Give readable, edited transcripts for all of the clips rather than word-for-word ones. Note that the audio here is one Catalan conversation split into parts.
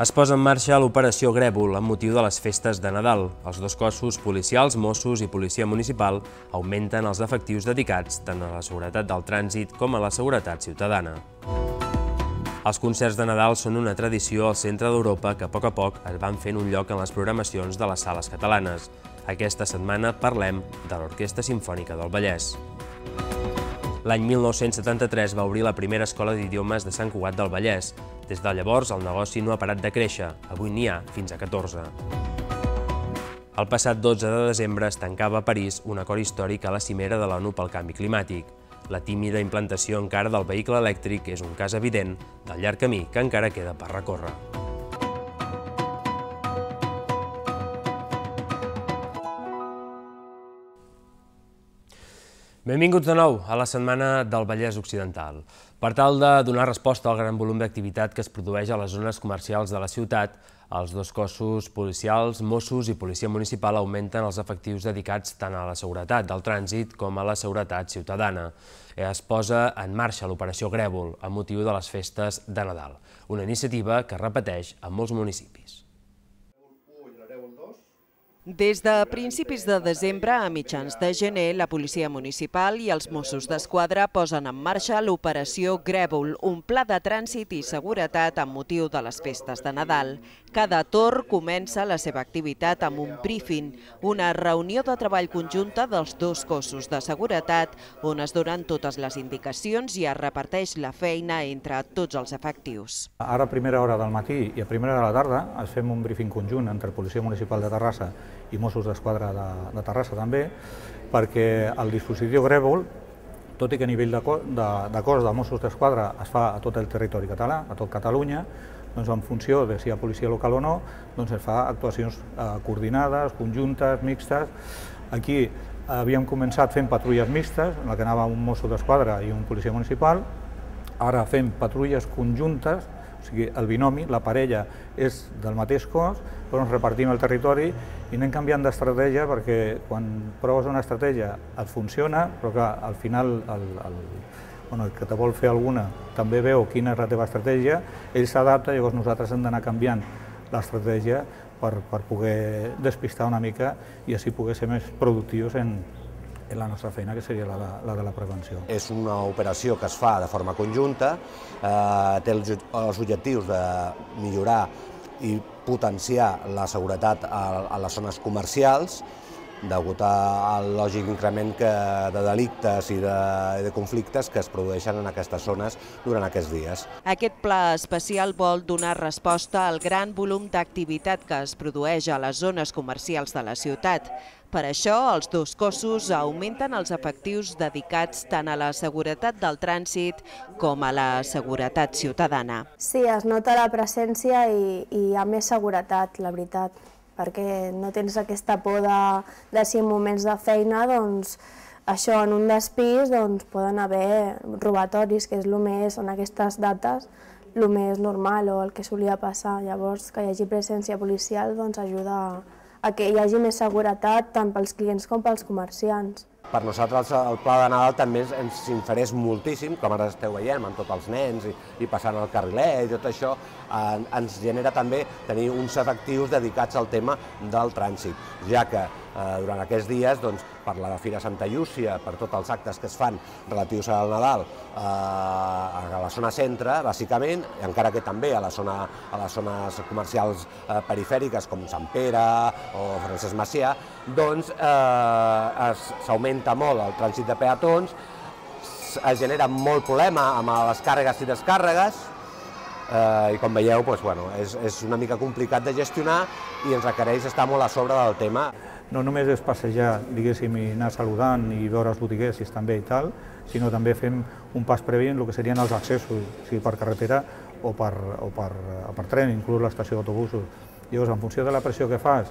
Es posa en marxa l'operació Grèvol amb motiu de les festes de Nadal. Els dos cossos policials, Mossos i Policia Municipal, augmenten els efectius dedicats tant a la seguretat del trànsit com a la seguretat ciutadana. Els concerts de Nadal són una tradició al centre d'Europa que a poc es van fent un lloc en les programacions de les sales catalanes. Aquesta setmana parlem de l'Orquestra Simfònica del Vallès. L'any 1973 va obrir la primera escola d'idiomes de Sant Cugat del Vallès. Des de llavors, el negoci no ha parat de créixer. Avui n'hi ha fins a 14. El passat 12 de desembre es tancava a París un acord històric a la cimera de l'ONU pel canvi climàtic. La tímida implantació encara del vehicle elèctric és un cas evident del llarg camí que encara queda per recórrer. Benvinguts de nou a la Setmana del Vallès Occidental. Per tal de donar resposta al gran volum d'activitat que es produeix a les zones comercials de la ciutat, els dos cossos policials, Mossos i Policia Municipal augmenten els efectius dedicats tant a la seguretat del trànsit com a la seguretat ciutadana. Es posa en marxa l'operació Grèvol amb motiu de les festes de Nadal, una iniciativa que es repeteix en molts municipis. Des de principis de desembre a mitjans de gener, la Policia Municipal i els Mossos d'Esquadra posen en marxa l'operació Grèvol, un pla de trànsit i seguretat amb motiu de les festes de Nadal. Cada torn comença la seva activitat amb un briefing, una reunió de treball conjunta dels dos cossos de seguretat, on es donen totes les indicacions i es reparteix la feina entre tots els efectius. Ara a primera hora del matí i a primera hora de la tarda es fem un briefing conjunt entre Policia Municipal de Terrassa i Mossos d'Esquadra de Terrassa també, perquè el dispositiu Grèvol, tot i que a nivell de cos de Mossos d'Esquadra es fa a tot el territori català, a tot Catalunya, doncs en funció de si hi ha policia local o no, doncs es fa actuacions coordinades, conjuntes, mixtes. Aquí havíem començat fent patrulles mixtes, en la que anava un Mosso d'Esquadra i un policia municipal. Ara fem patrulles conjuntes, o sigui, el binomi, la parella és del mateix cos, però ens repartim el territori i anem canviant d'estratègia perquè quan proves una estratègia et funciona, però clar, al final el que te vol fer alguna també veu quina és la teva estratègia, ell s'adapta, llavors nosaltres hem d'anar canviant l'estratègia per poder despistar una mica i així poder ser més productius en la nostra feina, que seria la de la prevenció. És una operació que es fa de forma conjunta, té els objectius de millorar i potenciar la seguretat a les zones comercials, degut al lògic increment de delictes i de conflictes que es produeixen en aquestes zones durant aquests dies. Aquest pla especial vol donar resposta al gran volum d'activitat que es produeix a les zones comercials de la ciutat. Per això, els dos cossos augmenten els efectius dedicats tant a la seguretat del trànsit com a la seguretat ciutadana. Sí, es nota la presència i hi ha més seguretat, la veritat, perquè no tens aquesta por de si en moments de feina, doncs, això en un despís poden haver robatoris, que és el més, en aquestes dates, el més normal o el que solia passar. Llavors, que hi hagi presència policial ajuda a que hi hagi més seguretat tant pels clients com pels comerciants. Per nosaltres el pla de Nadal també ens interessa moltíssim, com ara esteu veient, amb tots els nens i passant el carrilet i tot això, ens genera també tenir uns efectius dedicats al tema del trànsit, ja que durant aquests dies, per la Fira Santa Llúcia, per tots els actes que es fan relatius al Nadal a la zona centre, bàsicament, encara que també a les zones comercials perifèriques com Sant Pere o Francesc Macià, doncs s'augmenta molt el trànsit de peatons, es genera molt problema amb les càrregues i descàrregues, i com veieu és una mica complicat de gestionar i ens requereix estar molt a sobre del tema. No només és passejar, diguéssim, i anar saludant i veure els botiguers si estan bé i tal, sinó també fem un pas previ en el que serien els accessos, sigui per carretera o per tren, inclús l'estació d'autobusos. Llavors, en funció de la pressió que fas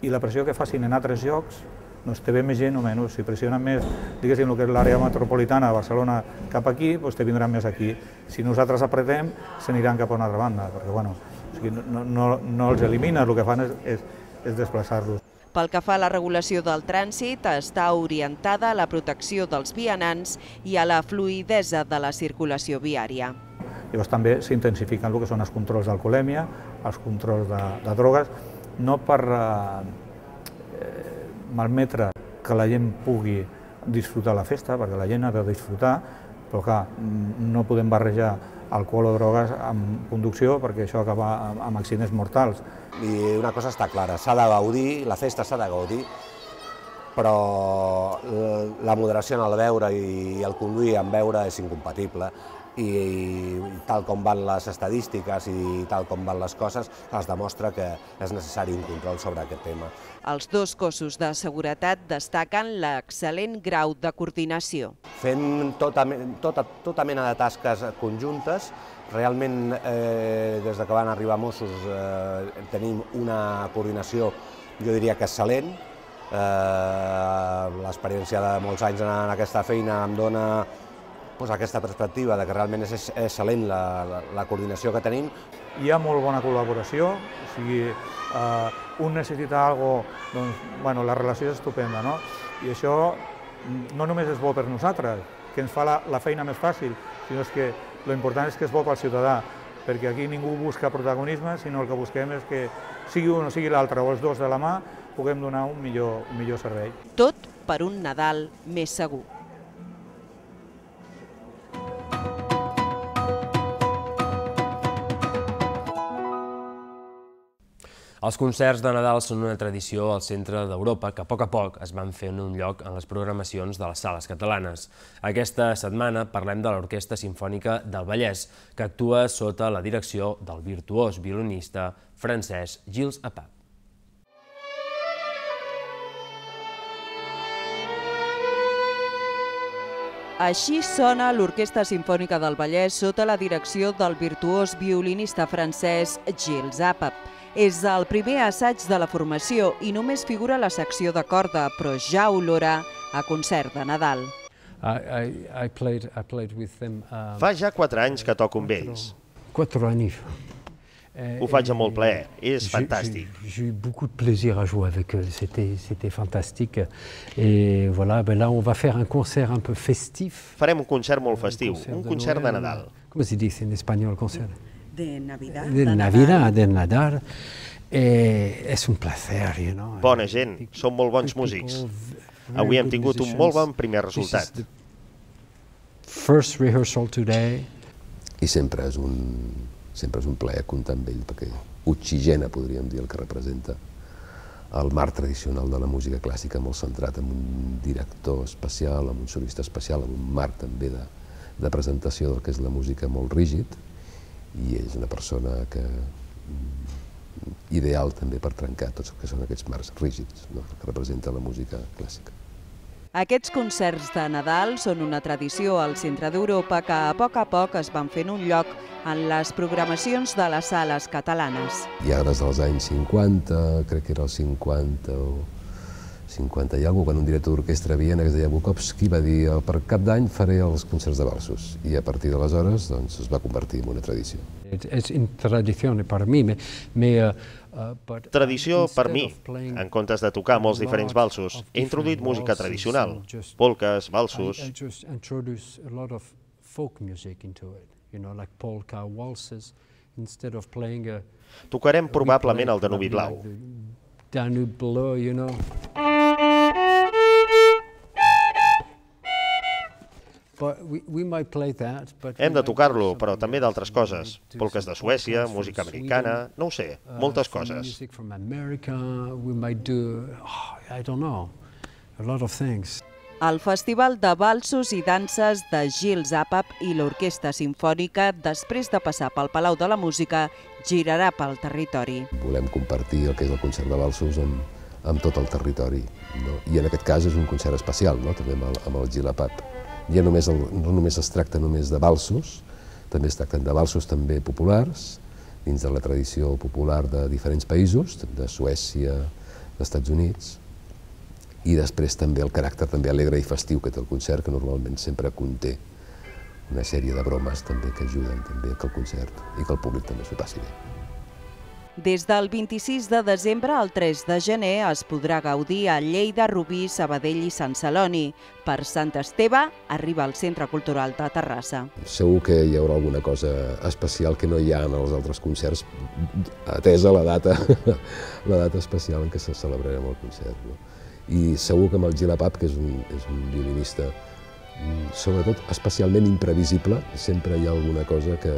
i la pressió que facin en altres llocs, doncs te ve més gent o menys. Si pressionen més, diguéssim, el que és l'àrea metropolitana de Barcelona cap aquí, doncs te vindran més aquí. Si nosaltres apretem, s'aniran cap a una altra banda, perquè no els elimines, el que fan és desplaçar-los. Pel que fa a la regulació del trànsit, està orientada a la protecció dels vianants i a la fluïdesa de la circulació viària. Llavors també s'intensifiquen el que són els controls d'alcoholèmia, els controls de drogues, no per malmetre que la gent pugui disfrutar la festa, perquè la gent ha de disfrutar, però clar, no podem barrejar alcohol o drogues amb conducció perquè això acaba amb accidents mortals. I una cosa està clara, s'ha de gaudir, la festa s'ha de gaudir, però la moderació en el beure i el conduir en beure és incompatible i tal com van les estadístiques i tal com van les coses, es demostra que és necessari un control sobre aquest tema. Els dos cossos de seguretat destaquen l'excel·lent grau de coordinació. Fent tota mena de tasques conjuntes, realment des que van arribar Mossos tenim una coordinació, jo diria que excel·lent. L'experiència de molts anys en aquesta feina em dona aquesta perspectiva de que realment és excel·lent la coordinació que tenim. Hi ha molt bona col·laboració, o sigui, un necessita alguna cosa, doncs, la relació és estupenda, no? I això no només és bo per nosaltres, que ens fa la feina més fàcil, sinó que l'important és que és bo pel ciutadà, perquè aquí ningú busca protagonisme, sinó el que busquem és que sigui un o sigui l'altre, o els dos de la mà, puguem donar un millor servei. Tot per un Nadal més segur. Els concerts de Nadal són una tradició al centre d'Europa que a poc es van fent un lloc en les programacions de les sales catalanes. Aquesta setmana parlem de l'Orquestra Simfònica del Vallès, que actua sota la direcció del virtuós violinista francès Gilles Apap. Així sona l'Orquestra Simfònica del Vallès sota la direcció del virtuós violinista francès Gilles Apap. És el primer assaig de la formació i només figura la secció de corda, però ja olora a concert de Nadal. Fa ja 4 anys que toco amb ells. 4 anys. Ho faig amb molt plaer, és fantàstic. J'ai eu beaucoup de plaisir à jouer avec eux, c'était fantastique. Et voilà, là on va faire un concert un peu festif. Farem un concert molt festiu, un concert de Nadal. ¿Cómo se dice en español concert? De Navidad. De Navidad, de Nadal. És un placer, you know. Bona gent, són molt bons músics. Avui hem tingut un molt bon primer resultat. First rehearsal today. I sempre és un plaer comptar amb ell, perquè oxigena, podríem dir, el que representa el marc tradicional de la música clàssica, molt centrat en un director especial, en un solista especial, en un marc també de presentació del que és la música molt rígid, i és una persona ideal també per trencar tots el que són aquests marcs rígids que representa la música clàssica. Aquests concerts de Nadal són una tradició al centre d'Europa que a poc es van fent un lloc en les programacions de les sales catalanes. Ja des dels anys 50, crec que era el 50 o 50 i alguna cosa, quan un director d'orquestra a Viena que es deia Bukowski va dir per cap d'any faré els concerts de valsos, i a partir d'aleshores es va convertir en una tradició. És una tradició per mi, Tradició per mi. En comptes de tocar molts diferents valsos, he introduït música tradicional, polques, valsos. Tocarem probablement el Danubi Blau. Danube Bleu, you know. Hem de tocar-lo, però també d'altres coses. Polques de Suècia, música americana, no ho sé, moltes coses. El Festival de Valsos i Danses de Gilles Apap i l'Orquestra Simfònica, després de passar pel Palau de la Música, girarà pel territori. Volem compartir el que és el concert de valsos amb tot el territori, i en aquest cas és un concert especial, també amb el Gilles Apap. Ja no només es tracta només de valsos, també es tracten de valsos també populars, dins de la tradició popular de diferents països, de Suècia, dels Estats Units, i després també el caràcter també alegre i festiu que té el concert, que normalment sempre conté una sèrie de bromes també que ajuden també que el concert i que el públic també s'ho passi bé. Des del 26 de desembre al 3 de gener es podrà gaudir a Lleida, Rubí, Sabadell i Sant Celoni. Per Sant Esteve arriba al Centre Cultural de Terrassa. Segur que hi haurà alguna cosa especial que no hi ha en els altres concerts, atesa la data especial en què se celebrarem el concert. I segur que amb el Gilapap, que és un violinista sobretot especialment imprevisible, sempre hi ha alguna cosa que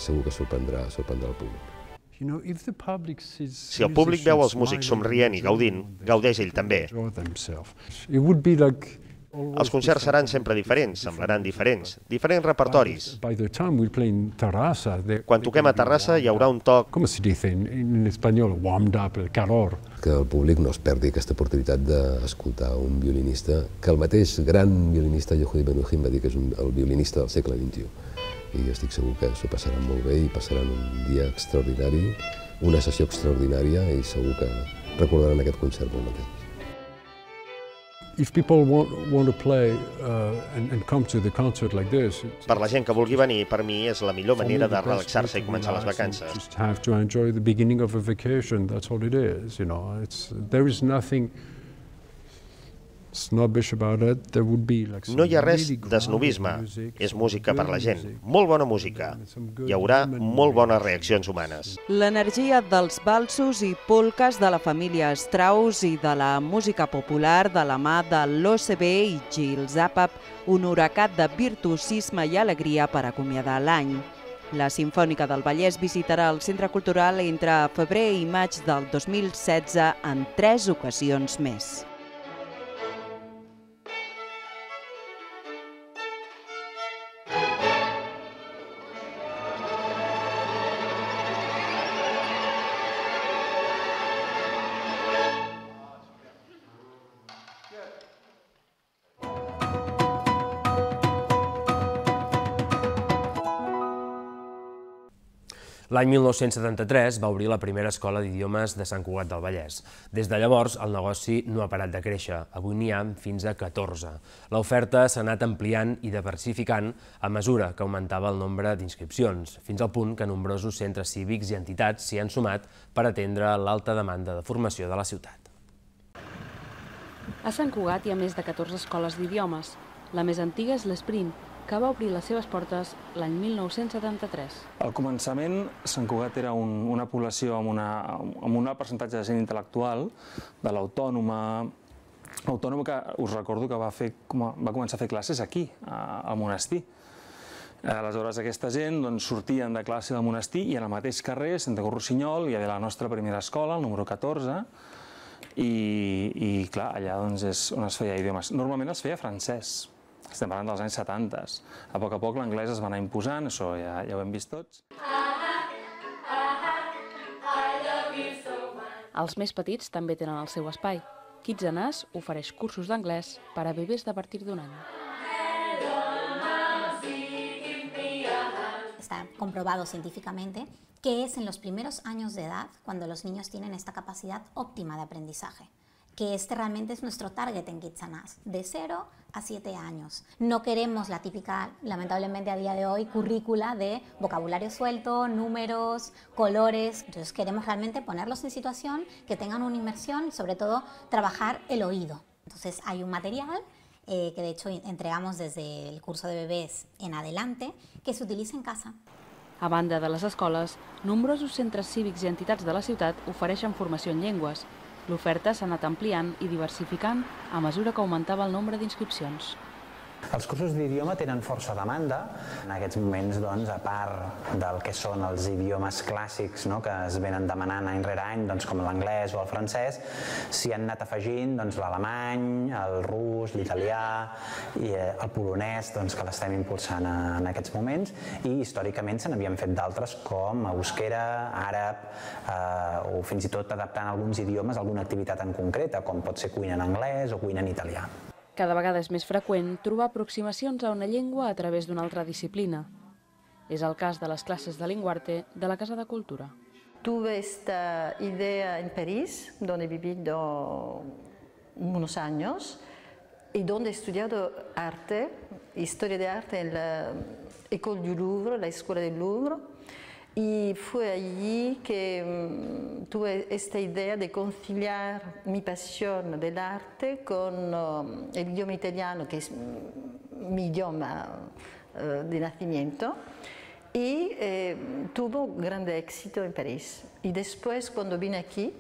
segur que sorprendrà el públic. Si el públic veu els músics somrient i gaudint, gaudeix ell també. Els concerts seran sempre diferents, semblaran diferents repertoris. Quan toquem a Terrassa hi haurà un toc... Com se dice en espanyol? Warmed up, el calor. Que el públic no es perdi aquesta oportunitat d'escoltar un violinista, que el mateix gran violinista Yehudi Menuhin va dir que és el violinista del segle XXI. I estic segur que s'ho passaran molt bé i passaran un dia extraordinari, una sessió extraordinària i segur que recordaran aquest concert molt mateix. Per la gent que vulgui venir, per mi és la millor manera de relaxar-se i començar les vacances. No hi ha res d'esnobisme, és música per la gent, molt bona música. Hi haurà molt bones reaccions humanes. L'energia dels valsos i polques de la família Strauss i de la música popular de la mà de l'OCB i Gil Zapap, un huracat de virtuosisme i alegria per acomiadar l'any. La Simfònica del Vallès visitarà el Centre Cultural entre febrer i maig del 2016 en 3 ocasions més. L'any 1973 va obrir la primera escola d'idiomes de Sant Cugat del Vallès. Des de llavors, el negoci no ha parat de créixer. Avui n'hi ha fins a 14. L'oferta s'ha anat ampliant i diversificant a mesura que augmentava el nombre d'inscripcions, fins al punt que nombrosos centres cívics i entitats s'hi han sumat per atendre l'alta demanda de formació de la ciutat. A Sant Cugat hi ha més de 14 escoles d'idiomes. La més antiga és l'Esprint, que va obrir les seves portes l'any 1973. Al començament, Sant Cugat era una població amb un percentatge de gent intel·lectual, de l'autònoma que us recordo que va començar a fer classes aquí, al monestir. Aleshores, aquesta gent sortien de classe del monestir i en el mateix carrer, Santa Cruz Rossinyol, hi havia la nostra primera escola, el número 14, i clar, allà és on es feia idiomes. Normalment es feia francès. Estem parlant dels anys 70. A poc l'anglès es va anar imposant, això ja ho hem vist tots. Els més petits també tenen el seu espai. Kids and Us ofereix cursos d'anglès per a bebès de partir d'un any. Está comprobado científicamente que es en los primeros años de edad cuando los niños tienen esta capacidad óptima de aprendizaje, que este realmente es nuestro target en Kids and Us, de 0 a 7 años. No queremos la típica, lamentablemente a día de hoy, currícula de vocabulario suelto, números, colores. Entonces queremos realmente ponerlos en situación que tengan una inmersión y sobre todo trabajar el oído. Entonces hay un material que de hecho entregamos desde el curso de bebès en adelante que se utiliza en casa. A banda de les escoles, nombrosos centres cívics i entitats de la ciutat ofereixen formació en llengües. L'oferta s'ha anat ampliant i diversificant a mesura que augmentava el nombre d'inscripcions. Els cursos d'idioma tenen força demanda. En aquests moments, a part del que són els idiomes clàssics que es venen demanant any rere any, com l'anglès o el francès, s'hi han anat afegint l'alemany, el rus, l'italià i el polonès, que l'estem impulsant en aquests moments, i històricament se n'havien fet d'altres com euskera, àrab o fins i tot adaptant alguns idiomes a alguna activitat en concreta, com pot ser cuina en anglès o cuina en italià. Cada vegada és més freqüent trobar aproximacions a una llengua a través d'una altra disciplina. És el cas de les classes de Linguarte de la Casa de Cultura. Tuve esta idea en París, donde he vivido unos años y donde he estudiado arte, historia de arte en la École du Louvre, la Escuela del Louvre, Y fue allí que tuve esta idea de conciliar mi pasión del arte con el idioma italiano, que es mi idioma de nacimiento, y tuvo grande éxito en París. Y después, cuando vine aquí,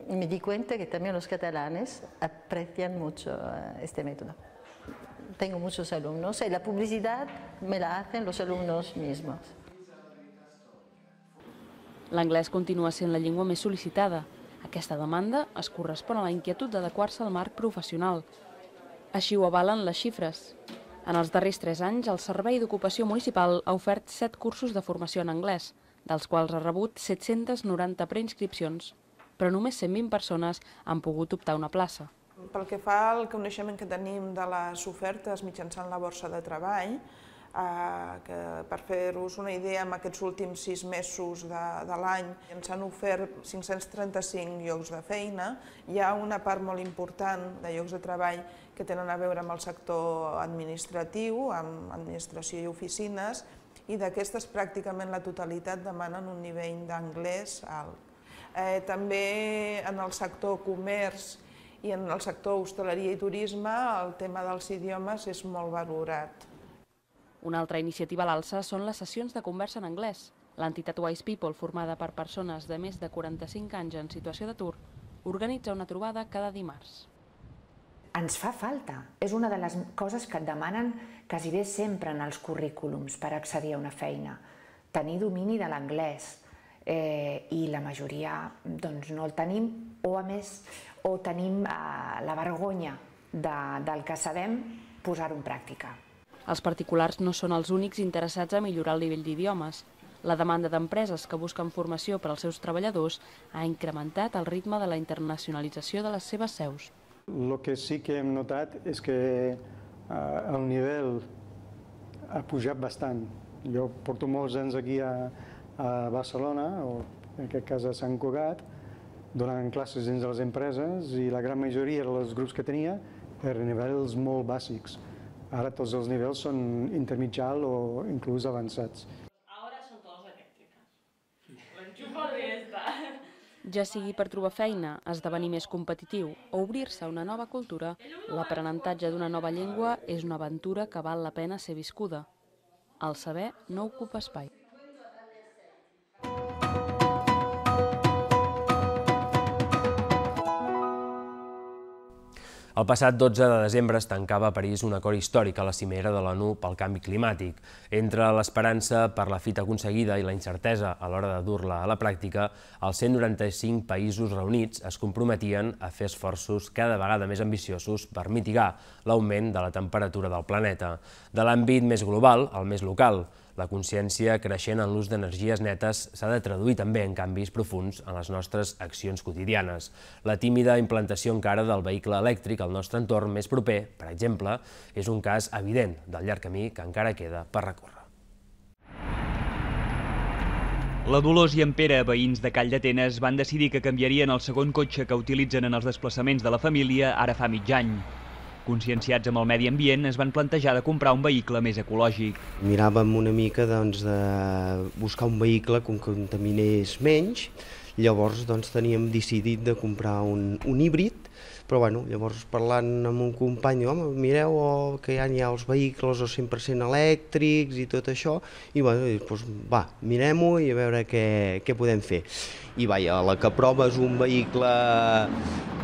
me di cuenta que también los catalanes aprecian mucho este método. Tengo muchos alumnos y la publicidad me la hacen los alumnos mismos. L'anglès continua sent la llengua més sol·licitada. Aquesta demanda es correspon a la inquietud d'adequar-se al marc professional. Així ho avalen les xifres. En els darrers 3 anys, el Servei d'Ocupació Municipal ha ofert 7 cursos de formació en anglès, dels quals ha rebut 790 preinscripcions, però només 120 persones han pogut optar una plaça. Pel que fa al coneixement que tenim de les ofertes mitjançant la borsa de treball, que per fer-vos una idea, en aquests últims 6 mesos de l'any ens han ofert 535 llocs de feina. Hi ha una part molt important de llocs de treball que tenen a veure amb el sector administratiu, amb administració i oficines, i d'aquestes pràcticament la totalitat demanen un nivell d'anglès alt. També en el sector comerç i en el sector hostaleria i turisme el tema dels idiomes és molt valorat. Una altra iniciativa a l'alça són les sessions de conversa en anglès. L'entitat Wise People, formada per persones de més de 45 anys en situació d'atur, organitza una trobada cada dimarts. Ens fa falta. És una de les coses que et demanen quasi bé sempre en els currículums per accedir a una feina. Tenir domini de l'anglès. I la majoria no el tenim, o a més, o tenim la vergonya del que sabem posar-ho en pràctica. Els particulars no són els únics interessats a millorar el nivell d'idiomes. La demanda d'empreses que busquen formació per als seus treballadors ha incrementat el ritme de la internacionalització de les seves seus. El que sí que hem notat és que el nivell ha pujat bastant. Jo porto molts anys aquí a Barcelona, o en aquest cas a Sant Cugat, donant classes dins de les empreses, i la gran majoria dels grups que tenia eren nivells molt bàsics. Ara tots els nivells són intermitjals o inclús avançats. Ja sigui per trobar feina, esdevenir més competitiu o obrir-se a una nova cultura, l'aprenentatge d'una nova llengua és una aventura que val la pena ser viscuda. El saber no ocupa espai. El passat 12 de desembre es tancava a París un acord històric a la cimera de l'ONU pel canvi climàtic. Entre l'esperança per la fita aconseguida i la incertesa a l'hora de dur-la a la pràctica, els 195 països reunits es comprometien a fer esforços cada vegada més ambiciosos per mitigar l'augment de la temperatura del planeta. De l'àmbit més global al més local, la consciència creixent en l'ús d'energies netes s'ha de traduir també en canvis profunds en les nostres accions quotidianes. La tímida implantació encara del vehicle elèctric al nostre entorn més proper, per exemple, és un cas evident del llarg camí que encara queda per recórrer. La Dolors i en Pere, veïns de Calldetenes, van decidir que canviarien el segon cotxe que utilitzen en els desplaçaments de la família ara fa mig any. Conscienciats amb el medi ambient, es van plantejar de comprar un vehicle més ecològic. Miràvem una mica de buscar un vehicle que contaminés menys, llavors teníem decidit de comprar un híbrid, però llavors parlant amb un company, home, mireu que ja hi ha els vehicles 100% elèctrics i tot això, i doncs va, mirem-ho i a veure què podem fer. I a la que proves un vehicle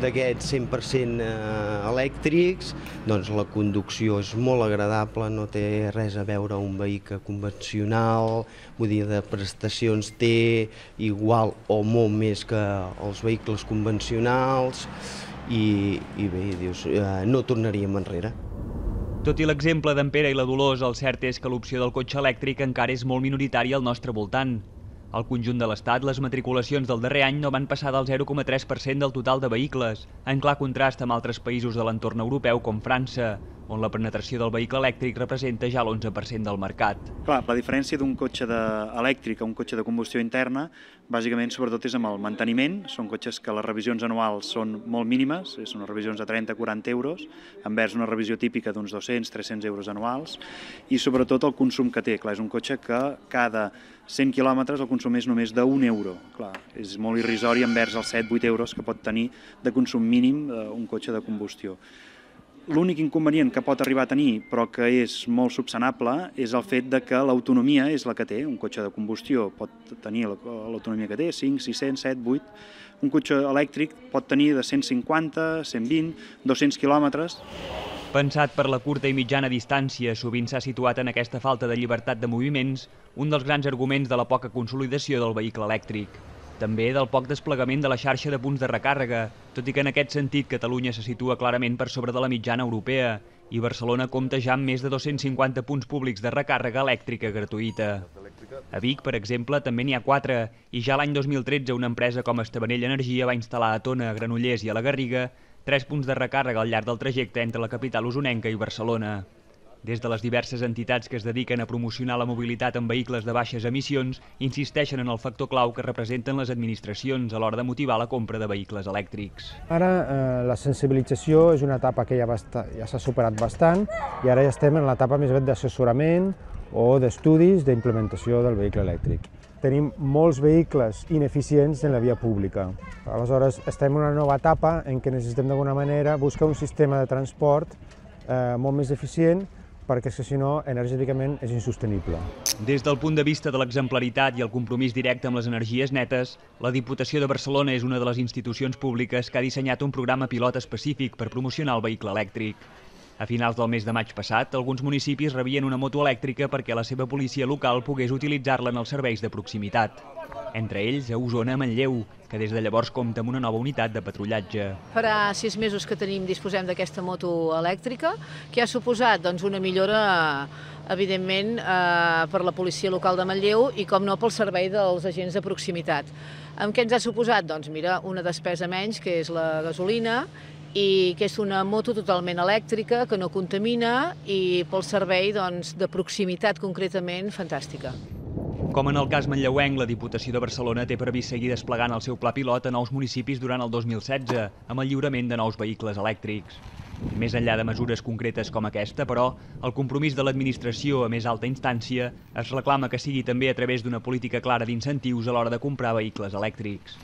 d'aquests 100% elèctrics, doncs la conducció és molt agradable, no té res a veure amb un vehicle convencional, vull dir, de prestacions té igual o molt més que els vehicles convencionals, i bé, dius, no tornaríem enrere. Tot i l'exemple d'en Pere i la Dolors, el cert és que l'opció del cotxe elèctric encara és molt minoritària al nostre voltant. Al conjunt de l'Estat, les matriculacions del darrer any no van passar del 0,3% del total de vehicles, en clar contrast amb altres països de l'entorn europeu com França. on la penetració del vehicle elèctric representa ja l'11% del mercat. Clar, la diferència d'un cotxe elèctric a un cotxe de combustió interna, bàsicament, sobretot, és amb el manteniment. Són cotxes que les revisions anuals són molt mínimes, són unes revisions de 30-40 euros, envers una revisió típica d'uns 200-300 euros anuals, i sobretot el consum que té. Clar, és un cotxe que cada 100 quilòmetres el consum és només d'1 euro. Clar, és molt irrisori envers els 7-8 euros que pot tenir de consum mínim un cotxe de combustió. L'únic inconvenient que pot arribar a tenir, però que és molt subsanable, és el fet que l'autonomia és la que té. Un cotxe de combustió pot tenir l'autonomia que té, 5, 600, 7, 8. Un cotxe elèctric pot tenir de 150, 120, 200 quilòmetres. Pensat per la curta i mitjana distància, sovint s'ha situat en aquesta falta de llibertat de moviments un dels grans arguments de la poca consolidació del vehicle elèctric. També del poc desplegament de la xarxa de punts de recàrrega, tot i que en aquest sentit Catalunya se situa clarament per sobre de la mitjana europea i Barcelona compta ja amb més de 250 punts públics de recàrrega elèctrica gratuïta. A Vic, per exemple, també n'hi ha 4 i ja l'any 2013 una empresa com Estavanell Energia va instal·lar a Tona, a Granollers i a la Garriga 3 punts de recàrrega al llarg del trajecte entre la capital usonenca i Barcelona. Des de les diverses entitats que es dediquen a promocionar la mobilitat en vehicles de baixes emissions, insisteixen en el factor clau que representen les administracions a l'hora de motivar la compra de vehicles elèctrics. Ara la sensibilització és una etapa que ja s'ha superat bastant i ara ja estem en l'etapa més aviat d'assessorament o d'estudis d'implementació del vehicle elèctric. Tenim molts vehicles ineficients en la via pública. Aleshores estem en una nova etapa en què necessitem d'alguna manera buscar un sistema de transport molt més eficient perquè si no, energèticament és insostenible. Des del punt de vista de l'exemplaritat i el compromís directe amb les energies netes, la Diputació de Barcelona és una de les institucions públiques que ha dissenyat un programa pilot específic per promocionar el vehicle elèctric. A finals del mes de maig passat, alguns municipis rebien una moto elèctrica perquè la seva policia local pogués utilitzar-la en els serveis de proximitat. Entre ells, a Osona, Manlleu, que des de llavors compta amb una nova unitat de patrullatge. Farà 6 mesos que disposem d'aquesta moto elèctrica, que ha suposat una millora, evidentment, per la policia local de Manlleu i, com no, pel servei dels agents de proximitat. Amb què ens ha suposat? Doncs mira, una despesa menys, que és la gasolina, i que és una moto totalment elèctrica, que no contamina i pel servei de proximitat concretament fantàstica. Com en el cas manlleuenc, la Diputació de Barcelona té previst seguir desplegant el seu pla pilot a nous municipis durant el 2016, amb el lliurament de nous vehicles elèctrics. Més enllà de mesures concretes com aquesta, però, el compromís de l'administració a més alta instància es reclama que sigui també a través d'una política clara d'incentius a l'hora de comprar vehicles elèctrics.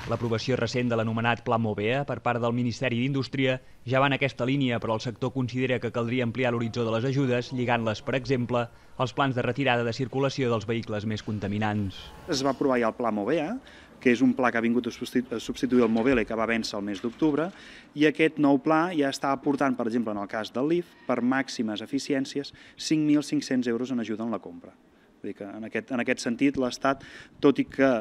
L'aprovació recent de l'anomenat Pla Movea per part del Ministeri d'Indústria ja va en aquesta línia, però el sector considera que caldria ampliar l'horitzó de les ajudes, lligant-les, per exemple, als plans de retirada de circulació dels vehicles més contaminants. Es va aprovar ja el Pla Movea, que és un pla que ha vingut a substituir el Movele i que va vèncer el mes d'octubre, i aquest nou pla ja està aportant, per exemple, en el cas del LIF, per màximes eficiències, 5.500 euros en ajuda en la compra. Vull dir que en aquest sentit l'Estat, tot i que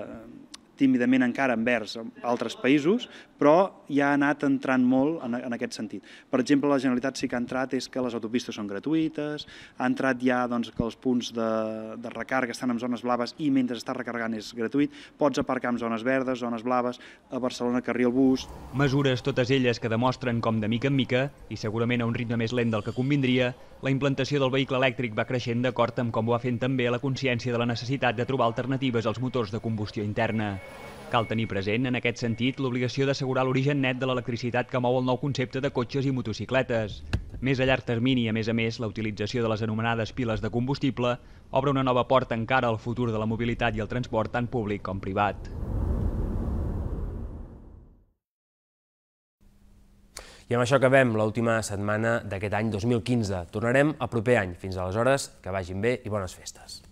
tímidament encara envers altres països, però ja ha anat entrant molt en aquest sentit. Per exemple, la Generalitat sí que ha entrat és que les autopistes són gratuïtes, ha entrat ja que els punts de recàrrega estan en zones blaves i mentre està recarregant és gratuït, pots aparcar en zones verdes, zones blaves, a Barcelona carril bus. Mesures totes elles que demostren com de mica en mica, i segurament a un ritme més lent del que convindria, la implantació del vehicle elèctric va creixent d'acord amb com ho va fent també la consciència de la necessitat de trobar alternatives als motors de combustió interna. Cal tenir present, en aquest sentit, l'obligació d'assegurar l'origen net de l'electricitat que mou el nou concepte de cotxes i motocicletes. Més a llarg termini, a més, la utilització de les anomenades piles de combustible obre una nova porta encara al futur de la mobilitat i el transport tant públic com privat. I amb això acabem l'última setmana d'aquest any 2015. Tornarem el proper any. Fins aleshores, que vagin bé i bones festes.